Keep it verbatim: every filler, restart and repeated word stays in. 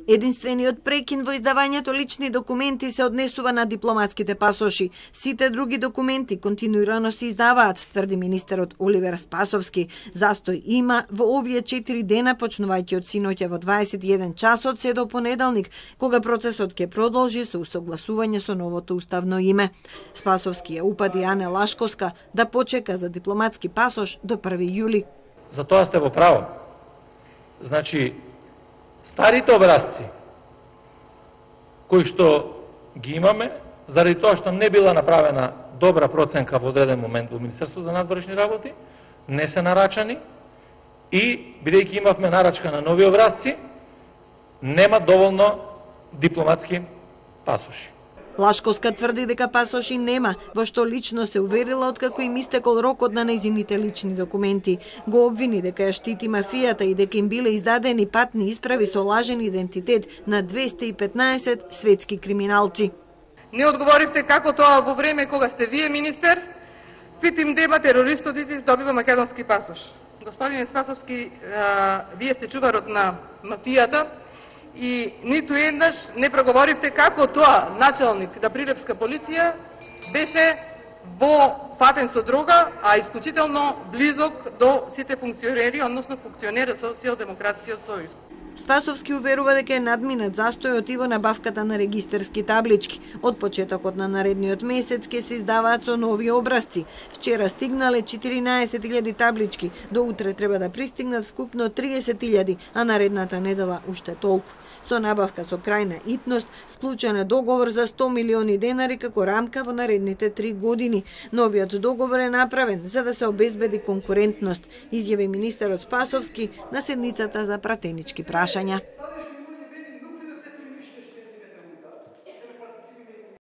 Единствениот прекин во издавањето лични документи се однесува на дипломатските пасоши. Сите други документи континуирано се издаваат, тврди министерот Оливер Спасовски. Застој има во овие четири дена, почнувајќи од синоќа во дваесет и еден часот се до понеделник, кога процесот ќе продолжи со усогласување со новото уставно име. Спасовски ја упади Ане Лашковска да почека за дипломатски пасош до први јули. За тоа сте во право. Значи, старите образци кои што ги имаме, заради тоа што не била направена добра проценка во одреден момент во Министерство за надворешни работи, не се нарачани и, бидејќи имавме нарачка на нови образци, нема доволно дипломатски пасоши. Лашковска тврди дека пасоши нема, во што лично се уверила откако им истекол рокот на нејзините лични документи. Го обвини дека ја штити мафијата и дека им биле издадени патни исправи со лажен идентитет на двесте и петнаесет светски криминалци. Не одговоривте како тоа во време кога сте вие министер, фитим деба терористот ИСИС добива македонски пасош. Господине Спасовски, а, вие сте чуварот на мафијата, и ниту еднаш не проговоривте како тоа началник на Прилепска полиција беше во фатен со дрога, а исклучително близок до сите функционери, односно функционери со Социјалдемократскиот сојуз. Спасовски уверува дека е надминат застојот и во набавката на регистерски таблички. Од почетокот на наредниот месец ќе се издаваат со нови образци. Вчера стигнале четиринаесет илјади таблички, до утре треба да пристигнат вкупно триесет илјади, а наредната недела уште толку. Со набавка со крајна итност, склучен е договор за сто милиони денари како рамка во наредните три години. Новиот договор е направен за да се обезбеди конкурентност, изјави министерот Спасовски на седницата за пратенички прашања.